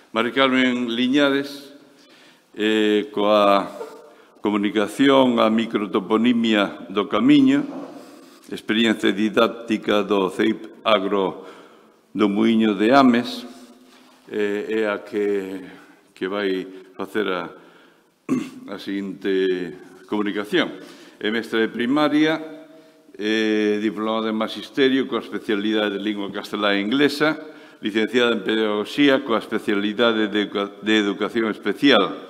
Mari Carmen Liñares, coa comunicación a microtoponimia do camiño, experiencia didáctica do CEIP Agro do Muiño de Ames, é a que vai facer a seguinte comunicación. É mestra de primaria, diplomada en Magisterio coa especialidade de Lingua Castelá e Inglesa, licenciada en Pedagogía coa especialidade de Educación Especial.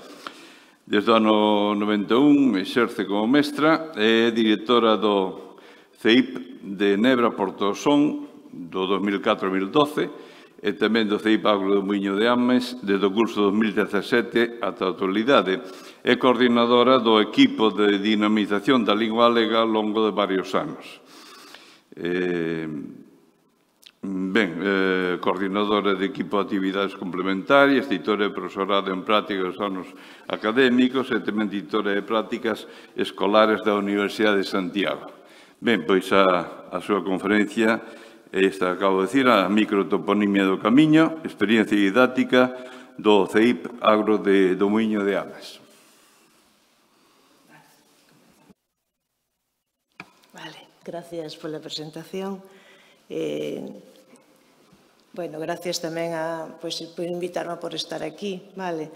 Desde o ano 91 exerce como mestra e é directora do CEIP de Nebra Portosón do 2004-2012 e tamén do CEIP Agro do Muiño de Ames desde o curso 2017 ata a actualidade. É coordinadora do equipo de dinamización da lingua galega ao longo de varios anos. Coordinadora de equipo de actividades complementarias, titora de profesorado en práctica dos anos académicos e tamén titora de prácticas escolares da Universidade de Santiago. Ben, pois a súa conferencia, esta acabo de dicir, a microtoponimia do camiño, experiencia didáctica do CEIP Agro do Muiño de Ames. Vale, gracias pola presentación. Bueno, gracias tamén por invitarme por estar aquí, vale.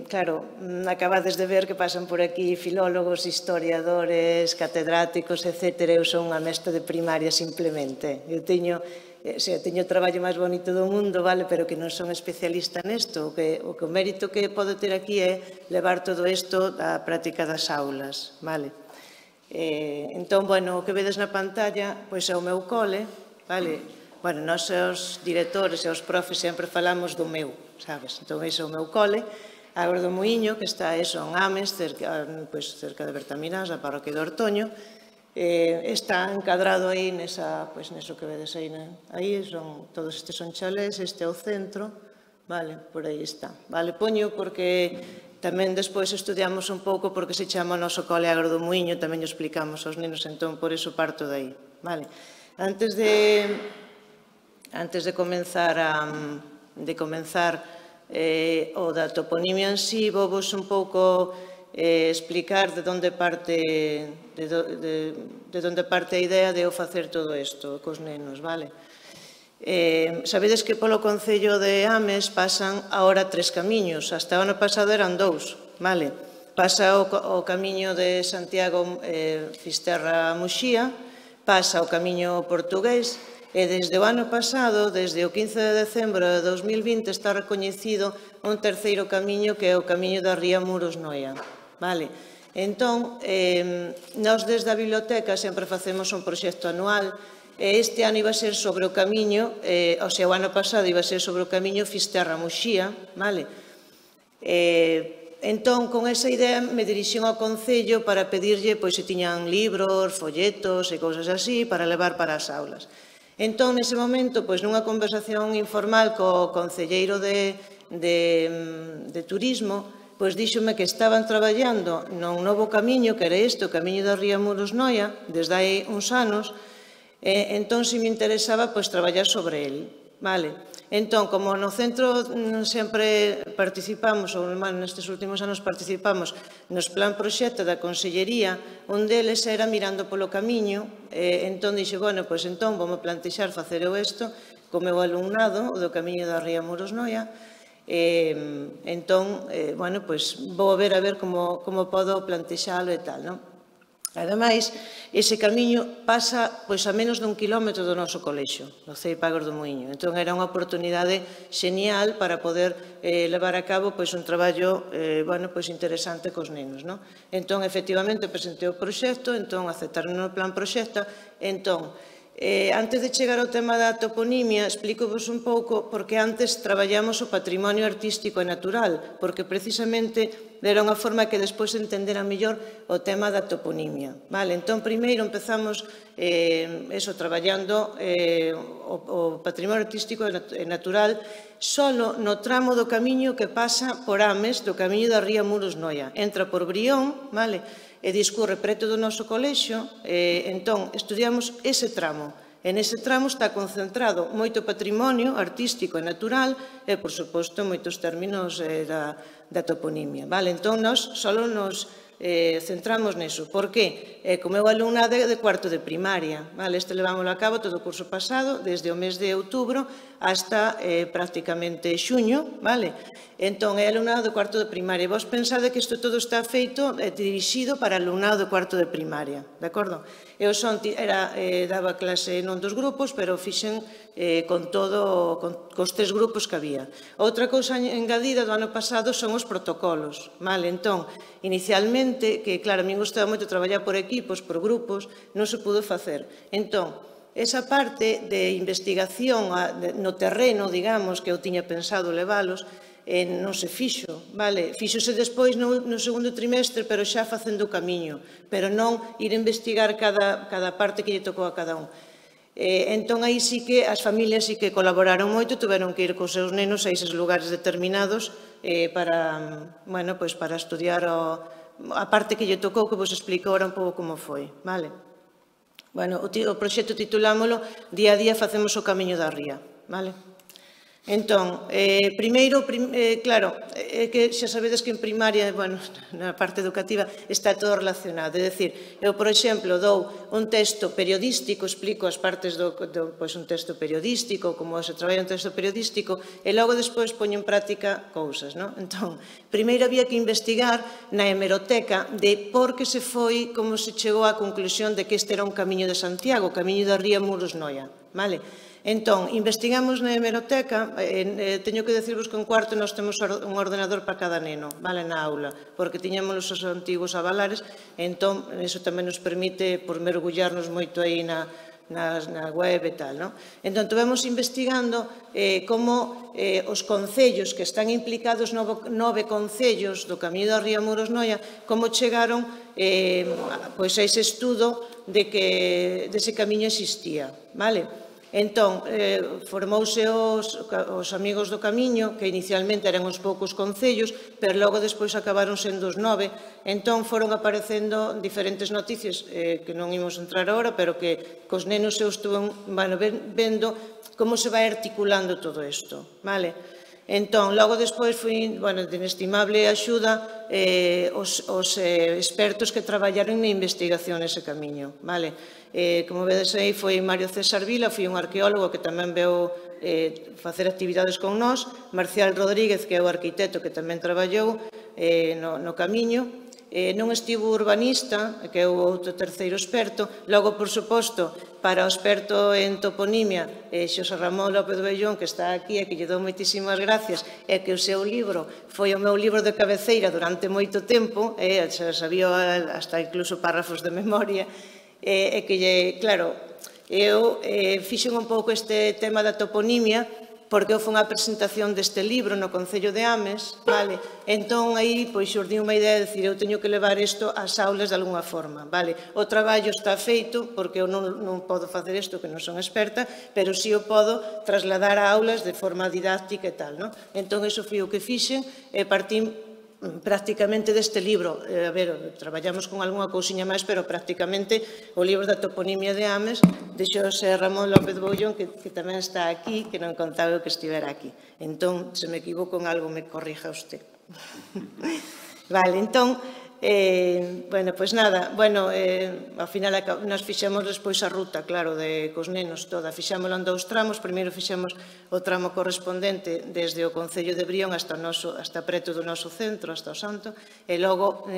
Claro, acabades de ver que pasan por aquí filólogos, historiadores, catedráticos, etc. Eu son unha mestra de primaria simplemente. Eu teño o traballo máis bonito do mundo, vale, pero que non son especialista nesto. O mérito que podo ter aquí é levar todo isto á práctica das aulas, vale. Entón, bueno, o que vedes na pantalla, pois é o meu cole, vale. Bueno, nós os directores e os profes sempre falamos do meu, sabes? Entón, ese é o meu cole, Agro do Muiño, que está en Ames, cerca de Bertamiráns, da parroquia de Ortoño. Está encadrado aí neso que vedes aí. Todos estes son chalés, este é o centro, vale, por aí está. Vale, poño porque tamén despois estudiamos un pouco porque se chama o noso cole Agro do Muiño, tamén o explicamos aos nenos, entón por iso parto de aí, vale. Antes de comenzar o da toponimia en sí, vou vos un pouco explicar de onde parte a idea de eu facer todo isto cos nenos, vale? Sabedes que polo Concello de Ames pasan agora 3 camiños, hasta o ano pasado eran 2, vale? Pasa o camiño de Santiago Fisterra-Muxía, pasa o camiño portugués, e desde o ano pasado, desde o 15 de decembro de 2020, está recoñecido un terceiro camiño que é o camiño da Ría Muros-Noia. Vale? Entón, nós desde a biblioteca sempre facemos un proxecto anual e este ano iba a ser sobre o camiño, o ano pasado iba a ser sobre o camiño Fisterra-Muxía, vale? Entón, con esa idea me dirixín ao Concello para pedirlle se tiñan libros, folletos e cousas así para levar para as aulas. Entón, nese momento, nunha conversación informal co concelleiro de turismo, díxome que estaban traballando nun novo camiño, que era este, o camiño da Ría Muros-Noia, desde hai uns anos, entón, se me interesaba, traballar sobre ele, vale? Entón, como no centro sempre participamos, ou nestes últimos anos participamos nos plan proxecto da Consellería, un deles era mirando polo camiño, entón dixe, bueno, entón vou plantexar facer eu isto co meu alumnado, o do camiño da Ría Muros-Noia, entón, bueno, vou ver como podo plantexalo e tal, non? Ademais, ese camiño pasa a menos dun kilómetro do noso colexio, do CEIP Agro do Muiño. Entón, era unha oportunidade xenial para poder levar a cabo un traballo interesante cos nenos. Entón, efectivamente, presentei o proxecto, entón, aceptaron o plan proxecto. Entón, antes de chegar ao tema da toponimia, explico-vos un pouco porque antes traballamos o patrimonio artístico e natural, porque precisamente era unha forma que despois entendera mellor o tema da toponimia. Entón, primeiro empezamos traballando o patrimonio artístico e natural solo no tramo do camiño que pasa por Ames, do camiño da Ría Muros-Noia. Entra por Brión, e discurre preto do noso colexio, entón estudiamos ese tramo. E nese tramo está concentrado moito patrimonio artístico e natural e, por suposto, moitos términos da toponimia. Entón, nós só nos centramos neso. Por que? Como eu alumnado de cuarto de primaria. Este levámoslo a cabo todo o curso pasado, desde o mes de outubro hasta prácticamente xuño. Entón, é alumnado de cuarto de primaria. Vos pensade que isto todo está feito dirixido para alumnado de cuarto de primaria. De acordo? Eu daba clase non dos grupos, pero fixen con cos 3 grupos que había. Outra cousa engadida do ano pasado son os protocolos. Entón, inicialmente, que claro, a min gustaba moito traballar por equipos, por grupos, non se pudo facer. Entón, esa parte de investigación no terreno, digamos, que eu tiña pensado levalos, non se fixo. Fíxose despois no segundo trimestre, pero xa facendo o camiño, pero non ir a investigar cada parte que lle tocou a cada un. Entón, aí sí que as familias sí que colaboraron moito, tuveron que ir cos seus nenos a eses lugares determinados para estudiar a parte que lle tocou, que vos explico ahora un pouco como foi. O proxecto titulámoslo Día a día facemos o camiño da ría. Entón, primeiro, claro, é que xa sabedes que en primaria, na parte educativa, está todo relacionado. É dicir, eu, por exemplo, dou un texto periodístico, explico as partes un texto periodístico, como se traballa un texto periodístico, e logo despois poño en práctica cousas. Entón, primeiro había que investigar na hemeroteca de por que se foi, como se chegou á conclusión de que este era un camiño de Santiago, o camiño da ría Muros-Noia. Entón, investigamos na hemeroteca, teño que decirvos que en cuarto nós temos un ordenador para cada neno, na aula, porque tiñamos os antigos avalares, entón, iso tamén nos permite mergullarnos moito aí na web e tal. Entón, estivemos investigando como os concellos que están implicados, 9 concellos do Camiño da Ría Muros-Noia, como chegaron a ese estudo de que ese camiño existía. Entón, formouse os amigos do camiño, que inicialmente eran uns poucos concellos, pero logo despois acabaron sendo os 9, entón foron aparecendo diferentes noticias que non imos entrar agora, pero que cos nenos eu estuve vendo como se vai articulando todo isto. Entón, logo despois foi de inestimable axuda os expertos que traballaron na investigación nese camiño. Como vedes aí, foi Mario César Vila, foi un arqueólogo que tamén veu facer actividades con nós, Marcial Rodríguez, que é o arquitecto que tamén traballou no camiño, non estivo o urbanista, que é o outro terceiro experto, logo, por suposto, para o experto en toponimia, Xosé Ramón López Bellón, que está aquí e que lle dou moitísimas gracias, e que o seu libro foi o meu libro de cabeceira durante moito tempo, xa sabía hasta incluso párrafos de memoria, e que, claro, eu fixen un pouco este tema da toponimia porque eu fui unha presentación deste libro no Concello de Ames, entón aí xurdiu unha idea de dicir, eu teño que levar isto ás aulas de alguna forma. O traballo está feito, porque eu non podo facer isto, que non son experta, pero si o podo trasladar a aulas de forma didáctica e tal. Entón, iso foi o que fixen e partín prácticamente deste libro. Traballamos con algunha cousiña máis, pero prácticamente o libro da toponimia de Ames de Xosé Ramón López Boullón, que tamén está aquí, que non contaba que estivera aquí. Entón, se me equivoco en algo, me corrija usted. Entón, pois nada, ao final nos fixemos despois a ruta, claro, cos nenos toda, fixámoslo en 2 tramos, primeiro fixemos o tramo correspondente desde o Concello de Brión hasta preto do noso centro, hasta o Santo, e logo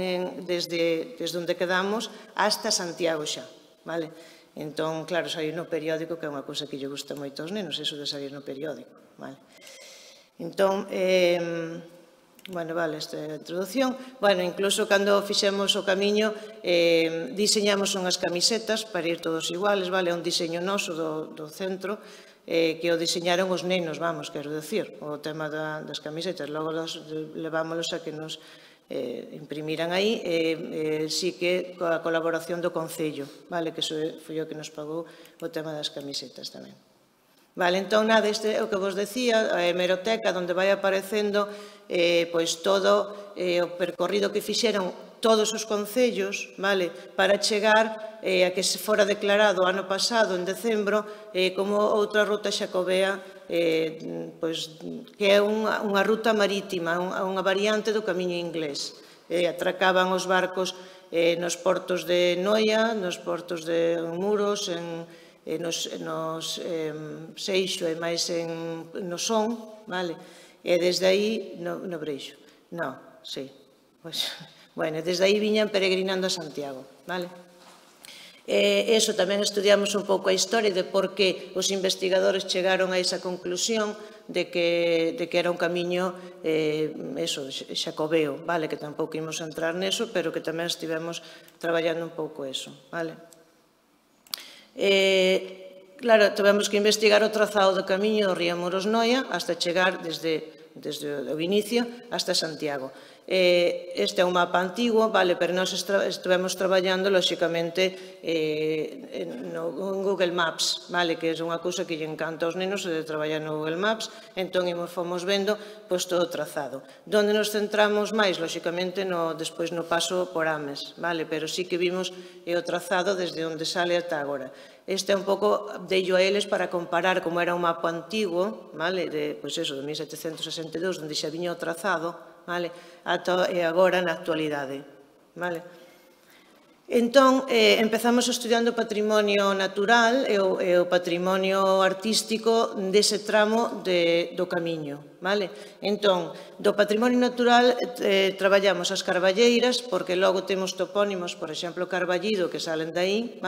desde onde quedamos hasta Santiago xa, entón, claro, sair no periódico, que é unha cousa que lle gusta moito aos nenos, eso de sair no periódico, entón, esta é a introducción. Incluso cando fixemos o camiño, diseñamos unhas camisetas para ir todos iguales, é un diseño noso do centro, que o diseñaron os nenos, quero dicir, o tema das camisetas. Logo levámonos a que nos imprimiran aí, sí que coa colaboración do Concello, que foi o que nos pagou o tema das camisetas tamén. Entón, nada, este é o que vos decía, a hemeroteca, onde vai aparecendo todo o percorrido que fixeron todos os concellos, para chegar a que se fora declarado ano pasado, en decembro, como outra ruta xacobea, que é unha ruta marítima, unha variante do camiño inglés. Atracaban os barcos nos portos de Noia, nos portos de Muros, nos Seixo e máis no Son, e desde aí, no Breixo, desde aí viñan peregrinando a Santiago, Eso tamén estudiamos un pouco a historia de por que os investigadores chegaron a esa conclusión de que era un camiño xacobeo, que tampouco imos entrar neso, pero que tamén estivemos traballando un pouco eso. Claro, tivemos que investigar o trazado do camiño do río Muros-Noia hasta chegar desde o inicio hasta Santiago. Este é un mapa antigo, pero nós estivemos traballando, lóxicamente, no Google Maps, que é unha cousa que lle encanta aos nenos de traballar no Google Maps, entón fomos vendo todo o trazado. Donde nos centramos máis, lóxicamente, despois no paso por Ames, pero sí que vimos o trazado desde onde sale ata agora. Este é un pouco, deillo a eles para comparar como era un mapa antigo, de 1762, onde xa viña o trazado, e agora na actualidade. Entón, empezamos estudiando o patrimonio natural e o patrimonio artístico dese tramo do camiño. Entón, do patrimonio natural traballamos as carballeiras, porque logo temos topónimos, por exemplo, Carballido, que salen daí.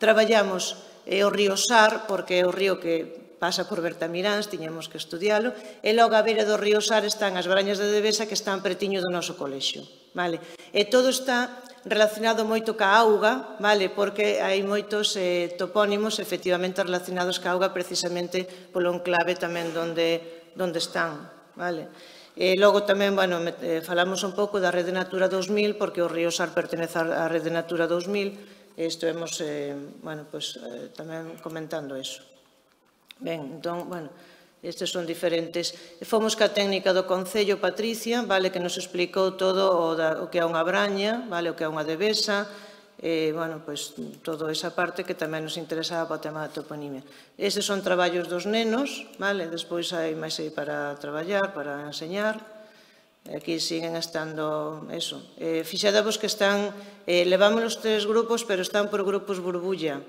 Traballamos o río Sar, porque é o río que pasa por Bertamiráns, tiñamos que estudialo, e logo a beira do río Sar están as Brañas de Devesa, que están pretiño do noso colexio. E todo está relacionado moito ca auga, porque hai moitos topónimos efectivamente relacionados ca auga precisamente polo enclave tamén onde están. E logo tamén, falamos un pouco da Rede Natura 2000, porque o río Sar pertenece á Rede Natura 2000, e estivemos tamén comentando iso. Ben, entón, estes son diferentes. Fomos ca técnica do Concello, Patricia, que nos explicou todo o que é unha braña, o que é unha devesa, toda esa parte que tamén nos interesaba para o tema da toponimia. Estes son traballos dos nenos, despois hai máis aí para traballar, para enseñar. Aquí siguen estando, fixadevos que están, levamos os 3 grupos, pero están por grupos burbulla,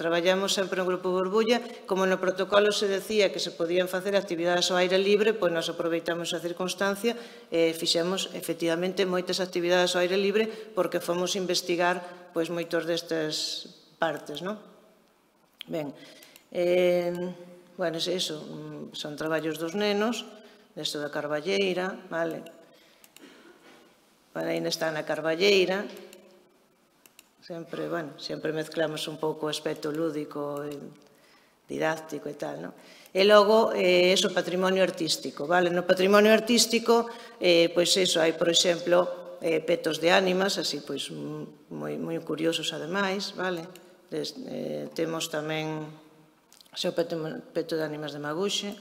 traballamos sempre en grupo burbulla, como no protocolo se decía que se podían facer actividades ao aire libre, pois nos aproveitamos a circunstancia e fixemos efectivamente moitas actividades ao aire libre porque fomos investigar moitos destas partes, Ben, eso, son traballos dos nenos, desto da Carballeira, ainda está na Carballeira, sempre mezclamos un pouco o aspecto lúdico, didáctico e tal, E logo, patrimonio artístico, no patrimonio artístico, hai, por exemplo, petos de ánimas, así, moi curiosos, ademais, temos tamén o peto de ánimas de Maguxe,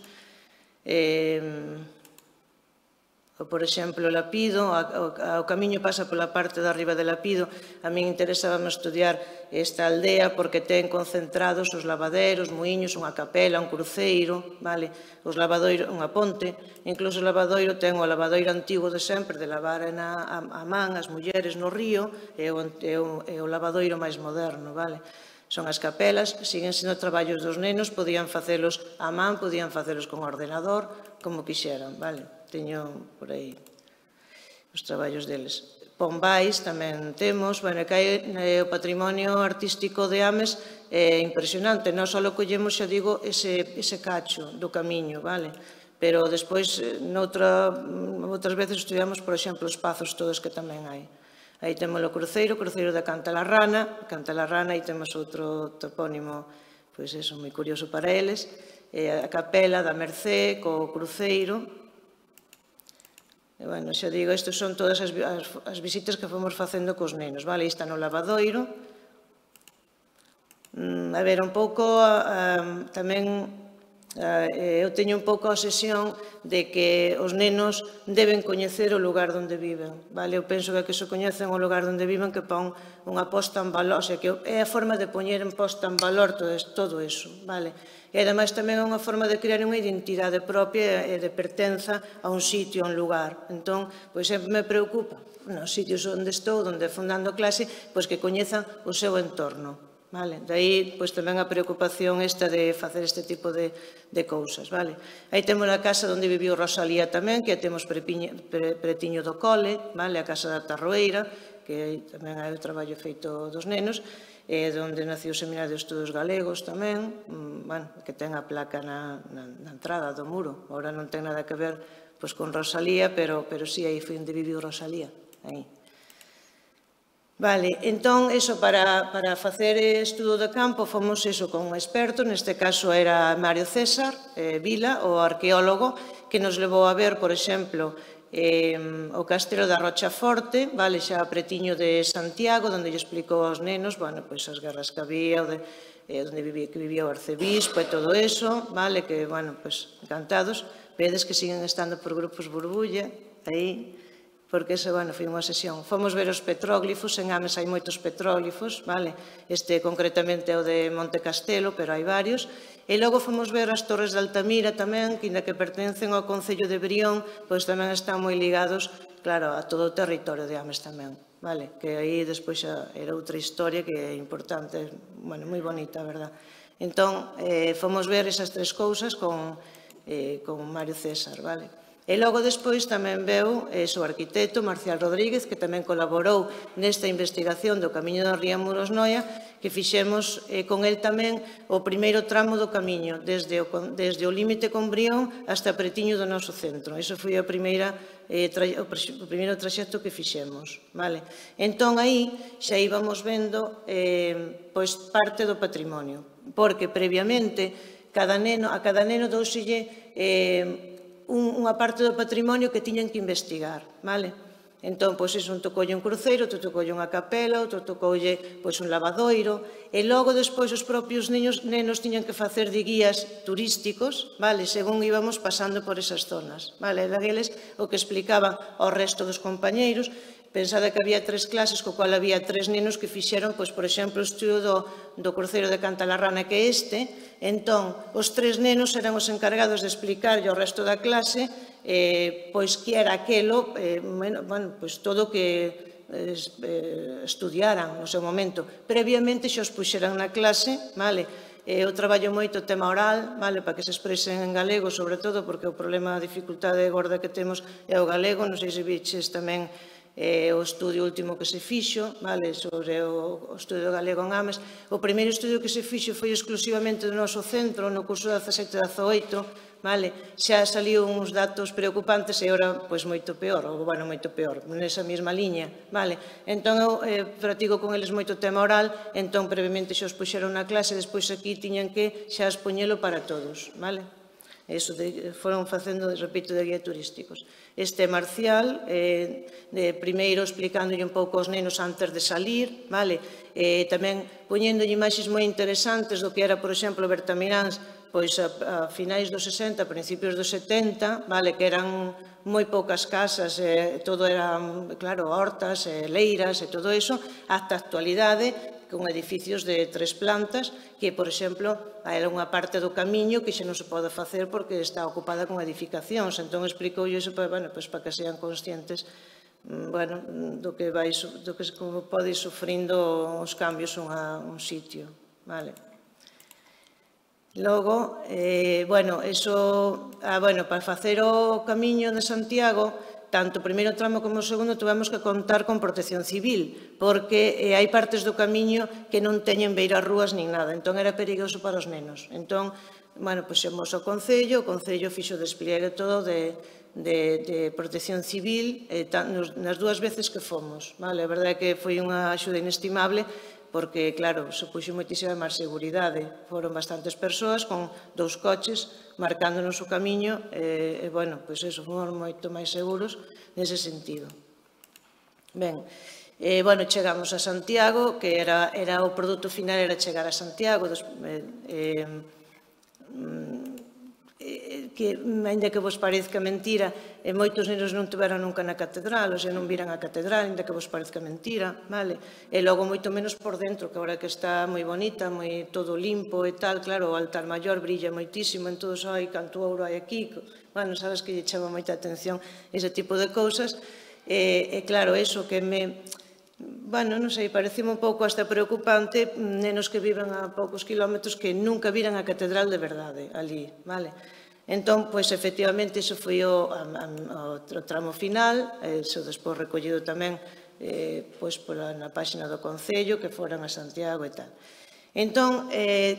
por exemplo, Lapido, o camiño pasa pola parte de arriba de Lapido. A min interesábame estudiar esta aldea porque ten concentrados os lavaderos, muiños, unha capela, un cruceiro, os lavadoiros, unha ponte, incluso o lavadoiro ten o lavadoiro antigo de sempre, de lavar a man as mulleres no río, e o lavadoiro máis moderno, Son as capelas, siguen sendo traballos dos nenos, podían facelos a man, podían facelos con ordenador, como quixeran, Teño por aí os traballos deles. Pombais tamén temos, que hai o patrimonio artístico de Ames é impresionante, non só collemos, xa digo, ese cacho do camiño, pero despois, outras veces estudiamos, por exemplo, os pazos todos que tamén hai. Aí temos o cruceiro da Cantalarrana, aí temos outro topónimo, moi curioso para eles, a capela da Mercé, co cruceiro. Xa digo, estas son todas as visitas que fomos facendo cos nenos, aí está no lavadoiro. A ver, un pouco tamén Eu teño un pouco a obsesión de que os nenos deben coñecer o lugar onde viven. Eu penso que se coñecen o lugar onde viven que pon unha posta en valor, o sea, que é a forma de poñer en posta en valor todo iso. E ademais tamén é unha forma de crear unha identidade propia e de pertenza a un sitio, a un lugar. Entón, pois sempre me preocupa nos sitios onde estou, onde fundando clase, pois que coñezan o seu entorno. De aí tamén a preocupación esta de facer este tipo de cousas. Aí temos a casa onde viviu Rosalía tamén, que temos pretiño do cole, a casa da Tarroeira, que tamén hai o traballo feito dos nenos, onde nació o Seminario de Estudos Galegos tamén, que ten a placa na entrada do muro. Agora non ten nada que ver con Rosalía, pero sí, aí foi onde viviu Rosalía, aí. Entón, para facer estudo de campo, fomos con un experto, neste caso era Mario César Vila, o arqueólogo, que nos levou a ver, por exemplo, o castelo da Rochaforte, xa pretiño de Santiago, onde lle explicou aos nenos as guerras que había, onde vivía o arcebispo e todo eso, que, encantados. Vedes que siguen estando por grupos burbulla, aí, porque esa, foi unha sesión. Fomos ver os petróglifos, en Ames hai moitos petróglifos, este concretamente é o de Monte Castelo, pero hai varios. E logo fomos ver as torres de Altamira tamén, que ainda que pertencen ao Concello de Brión, pois tamén están moi ligados, claro, a todo o territorio de Ames tamén, que aí despois xa era outra historia que é importante, moi bonita, a verdad. Entón, fomos ver esas tres cousas con Mario César, E logo despois tamén veu o arquitecto Marcial Rodríguez, que tamén colaborou nesta investigación do Camiño da Ría Muros-Noia, que fixemos con el tamén o primeiro tramo do camiño, desde o límite con Brión hasta pretiño do noso centro. Iso foi o primeiro traxecto que fixemos. Entón, aí xa íbamos vendo parte do patrimonio, porque previamente a cada neno douselle unha parte do patrimonio que tiñan que investigar. Entón, un tocoulle un cruceiro, outro tocoulle unha capela, outro tocoulle un lavadoiro, e logo despois os propios nenos tiñan que facer de guías turísticos, según íbamos pasando por esas zonas. Daqueles o que explicaban ao resto dos compañeiros. Pensada que había 3 clases, co cual había 3 nenos que fixeron, por exemplo, o estudo do cruceiro de Cantalarrana, que é este. Entón, os 3 nenos eran os encargados de explicarlle ao resto da clase que era aquelo, todo o que estudiaran no seu momento. Previamente xa os puxeran na clase, eu traballo moito o tema oral, para que se expresen en galego, sobre todo, porque o problema, a dificultade gorda que temos é o galego. Non sei se viches tamén o estudio último que se fixo sobre o estudio galego en Ames. O primeiro estudio que se fixo foi exclusivamente do noso centro, no curso 17-18, xa saliu uns datos preocupantes e ora moito peor, nesa mesma liña. Entón, eu practico con eles moito tema oral, entón previamente xa os puxeron na clase, despois aquí tiñan que xa expoñelo para todos. Eso foron facendo, repito, de guía turísticos. Este Marcial, primeiro explicándolle un pouco aos nenos antes de salir, tamén poñéndolle imaxes moi interesantes do que era, por exemplo, Bertamiráns, a finais dos 60, principios dos 70, que eran moi poucas casas, todo eran, claro, hortas, leiras e todo iso, ata a actualidade, con edificios de 3 plantas, que, por exemplo, era unha parte do camiño que xa non se pode facer porque está ocupada con edificacións. Entón, explicou iso para que sean conscientes do que pode ir sufrindo os cambios un sitio. Logo, para facer o camiño de Santiago, tanto o primeiro tramo como o segundo tivemos que contar con protección civil, porque hai partes do camiño que non teñen beirarrúas nin nada, entón era perigoso para os nenos. Entón, xemos ao Concello, o Concello fixo o despliegue todo de protección civil nas 2 veces que fomos. A verdade é que foi unha axuda inestimable, porque, claro, supuxo moitísima máis seguridade. Foron bastantes persoas con 2 coches marcándonos o camiño e, fomos moito máis seguros nese sentido. Chegamos a Santiago, que era o produto final, era chegar a Santiago. que, ainda que vos parezca mentira, moitos nenos non tiveron nunca na catedral, ou sea, non viran a catedral, ainda que vos parezca mentira, vale? E logo moito menos por dentro, que agora que está moi bonita, moi todo limpo e tal, claro, o altar maior brilla moitísimo, en todos, ai, canto ouro hai aquí, bueno, sabes que lle chama moita atención ese tipo de cousas, e claro, eso que me... Bueno, non sei, parecime un pouco hasta preocupante nenos que viven a poucos kilómetros que nunca viran a catedral de verdade ali, vale? Entón, pois, efectivamente, iso foi o tramo final, iso despois recollido tamén pois, na páxina do Concello, que foran a Santiago e tal. Entón,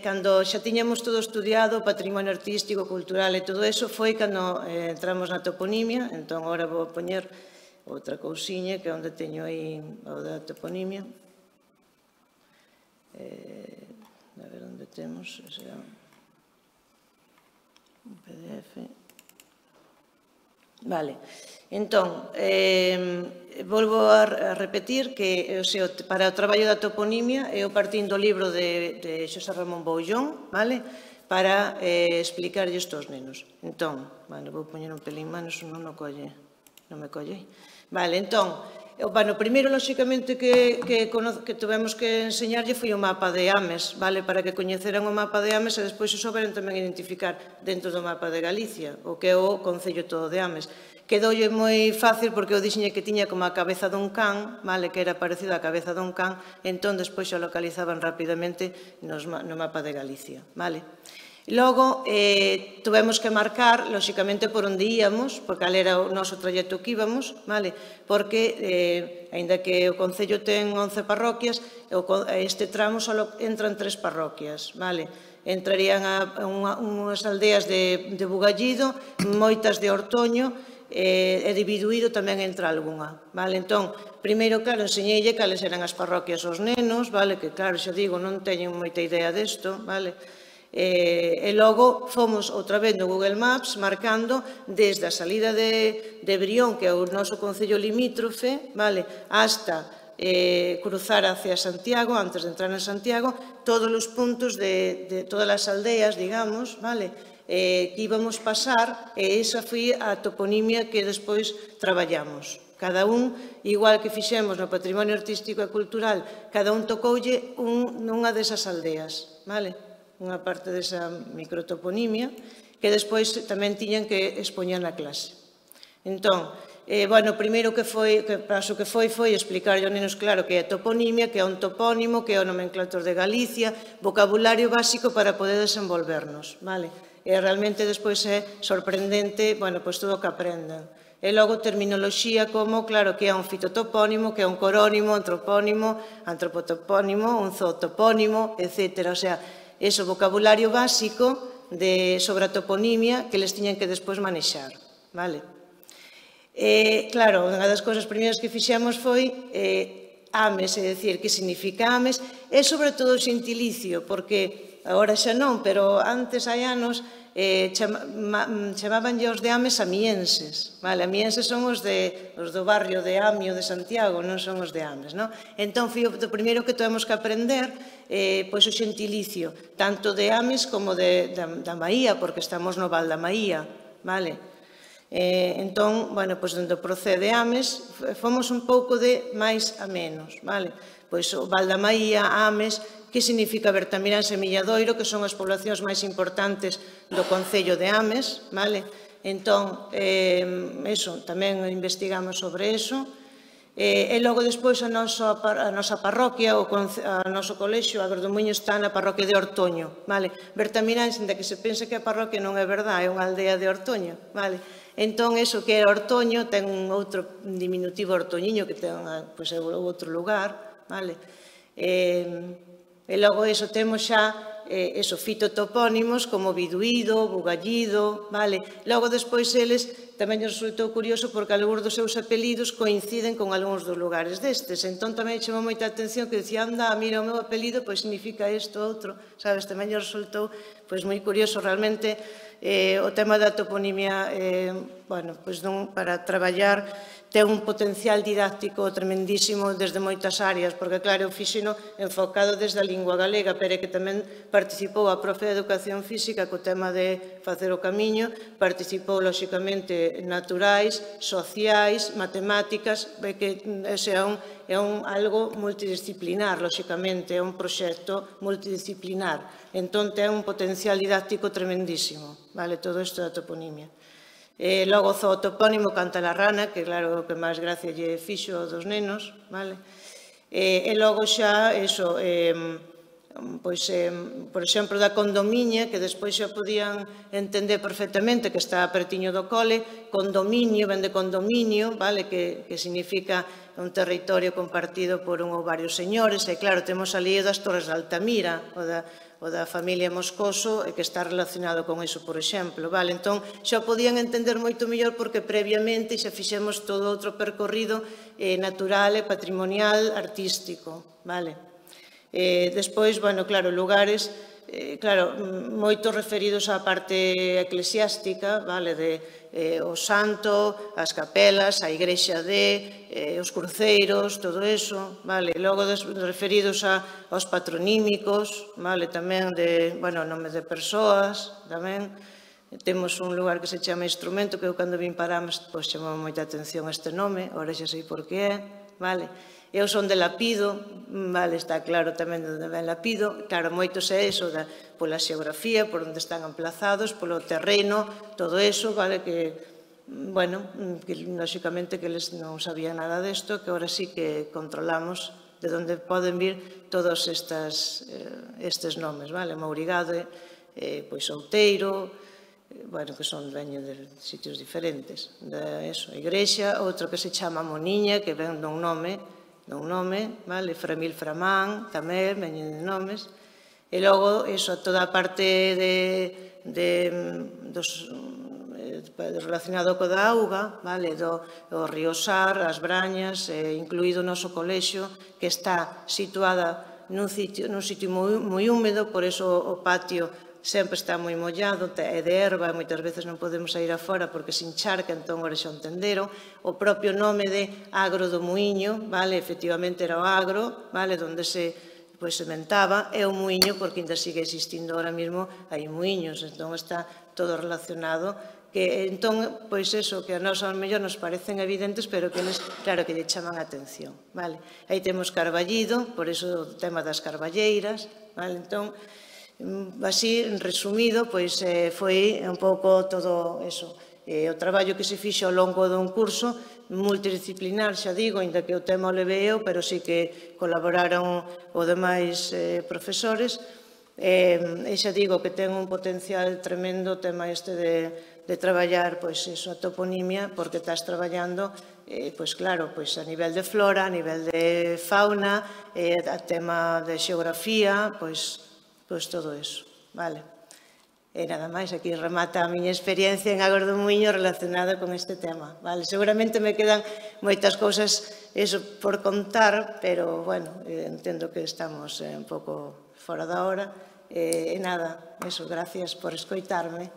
cando xa tiñamos todo estudiado, o patrimonio artístico, cultural e todo eso, foi cando entramos na toponimia, entón, agora vou poñer outra cousiña que é onde teño aí o da toponimia. A ver onde temos, será un PDF. Vale, entón, volvo a repetir que para o traballo da toponimia eu partín do libro de Xosé Ramón Boullón, vale, para explicarlle isto aos nenos. Entón, vou poñer un pelín máis, non me colle. Vale, entón, o primeiro, lóxicamente, que tivemos que enseñarlle foi o mapa de Ames, vale, para que coñeceran o mapa de Ames e despois o souberan tamén identificar dentro do mapa de Galicia, o que é o Concello todo de Ames. Quedoulle moi fácil porque eu dixiñe que tiña como a cabeza dun can, vale, que era parecido á cabeza dun can, entón despois xa localizaban rapidamente no mapa de Galicia, vale. Logo, tuvemos que marcar, lóxicamente, por onde íamos, por cal era o noso traxecto que íbamos, vale? Porque, aínda que o Concello ten 11 parroquias, este tramo só entran 3 parroquias, vale? Entrarían a unhas aldeas de Bugallido, moitas de Ortoño, e de Biduído tamén entra algunha, vale? Entón, primeiro, claro, enseñeille cales eran as parroquias aos nenos, vale? Que, claro, xa digo, non teñen moita idea desto, vale? E logo fomos outra vez no Google Maps marcando desde a salida de Brión, que é o noso concello limítrofe, vale, hasta cruzar hacia Santiago, antes de entrar en Santiago, todos os puntos de todas as aldeas, digamos, vale, que íbamos pasar, e esa foi a toponimia que despois traballamos. Cada un, igual que fixemos no patrimonio artístico e cultural, cada un tocoulle nunha desas aldeas, vale? Unha parte desa microtoponimia, que despois tamén tiñan que expoñer na clase. Entón, bueno, o primeiro paso que foi explicar aos nenos claro que é toponimia, que é un topónimo, que é o nomenclator de Galicia, vocabulario básico para poder desenvolvernos, vale? E realmente despois é sorprendente, bueno, pois todo o que aprenden. E logo terminoloxía como, claro, que é un fitotopónimo, que é un corónimo, antropónimo, antropotopónimo, un zootopónimo, etc. O sea, ese vocabulario básico sobre a toponimia que les tiñan que despois manexar, vale? Claro, unha das cousas primeiras que fixemos foi Ames, é dicir, que significa Ames, e sobre todo o xentilicio, porque agora xa non, pero antes hai anos chamabanlle os de Ames amienses, vale? Amienses son os do barrio de Amio de Santiago, non son os de Ames, non? Entón, foi o primeiro que tuvemos que aprender pois o xentilicio, tanto de Ames como da Maía, porque estamos no Val da Maía, vale? Entón, bueno, pois onde procede Ames, fomos un pouco de máis a menos, vale? Pois o Val da Maía, Ames, que significa Bertamiráns e Milladoiro, que son as poblacións máis importantes do Concello de Ames, vale? Entón, tamén investigamos sobre eso. E logo despois a nosa parroquia, o noso colexio, a Verdomuiño, está na parroquia de Ortoño, vale? Bertamiráns, ainda que se pense que a parroquia non é verdade, é unha aldea de Ortoño, vale? Entón, eso que era Ortoño ten un outro diminutivo Ortoñiño que ten outro lugar, vale? E logo eso temos xa fitotopónimos como Biduído, Bugallido, vale? Logo despois eles tamén nos resultou curioso porque algúns dos seus apelidos coinciden con algúns dos lugares destes. Entón tamén chamou moita atención que dicía, anda, mira, o meu apelido pois significa isto, outro, sabes? Tamén nos resultou pois moi curioso realmente o tema da toponimia, bueno, pois non para traballar ten un potencial didáctico tremendísimo desde moitas áreas, porque, claro, eu fixeno enfocado desde a lingua galega, pero que tamén participou a profe de Educación Física co tema de facer o camiño, participou, lóxicamente, naturais, sociais, matemáticas, que ese é algo multidisciplinar, lóxicamente, é un proxecto multidisciplinar. Entón, ten un potencial didáctico tremendísimo, vale, todo isto da toponimia. Logo, o zootopónimo Canta la rana, que claro, o que máis gracia lle fixo dos nenos, vale? E logo xa, eso, pois, por exemplo, da condomiña, que despois xa podían entender perfectamente que está pertiño do cole, condominio, ven de condominio, vale? Que significa un territorio compartido por un ou varios señores, e claro, temos ali das Torres de Altamira, o da familia Moscoso, que está relacionado con iso, por exemplo, vale? Entón, xa podían entender moito mellor porque previamente xa fixemos todo outro percorrido natural e patrimonial artístico, vale? Despois, bueno, claro, lugares, claro, moitos referidos á parte eclesiástica, vale, o santo, as capelas, a igrexa os cruceiros, todo eso, vale, logo referidos aos patronímicos, vale, tamén bueno, nome de persoas, tamén, temos un lugar que se chama Instrumento, que eu cando vim para Ames, pois chamou moita atención este nome, ora xa sei por que é, vale. Eu son de Lapido, vale, está claro tamén de onde ven Lapido, claro, moitos é iso pola xeografía, por onde están emplazados, polo terreno, todo eso, vale, que, bueno, que lóxicamente que eles non sabían nada desto, que ahora sí que controlamos de onde poden vir todos estes nomes, vale, Mourigade, pois Outeiro, bueno, que son veños de sitios diferentes, a igrexa, outro que se chama Moniña, que ven dun nome, vale, Framil Framán, tamén, veñen de nomes, e logo, toda a parte relacionado co da auga, vale, o río Sar, as Brañas, incluído o noso colexio, que está situada nun sitio moi húmedo, por iso o patio sempre está moi mollado, é de herba, moitas veces non podemos sair afora porque se encharca, entón ora xa o entenderon. O propio nome de Agro do Muiño, vale, efectivamente era o agro, vale, onde se sementaba, é o muiño porque ainda sigue existindo ahora mesmo, hai muiños, entón está todo relacionado, que entón, pois eso, que a nós ao mellor nos parecen evidentes, pero que eles, claro, que lle chaman a atención, vale. Aí temos Carballido, por iso o tema das carballeiras, vale, entón, así, resumido, pois foi un pouco todo eso. O traballo que se fixo ao longo dun curso multidisciplinar, xa digo, ainda que o tema o levei eu, pero sí que colaboraron os demais profesores, e xa digo que ten un potencial tremendo o tema este de traballar a toponimia, porque estás traballando, pois claro, a nivel de flora, a nivel de fauna, a tema de xeografía, pois todo iso, vale. E nada máis, aquí remata a miña experiencia en Agro do Muiño relacionada con este tema, vale. Seguramente me quedan moitas cousas por contar, pero, bueno, entendo que estamos un pouco fora da hora. E nada, gracias por escoitarme.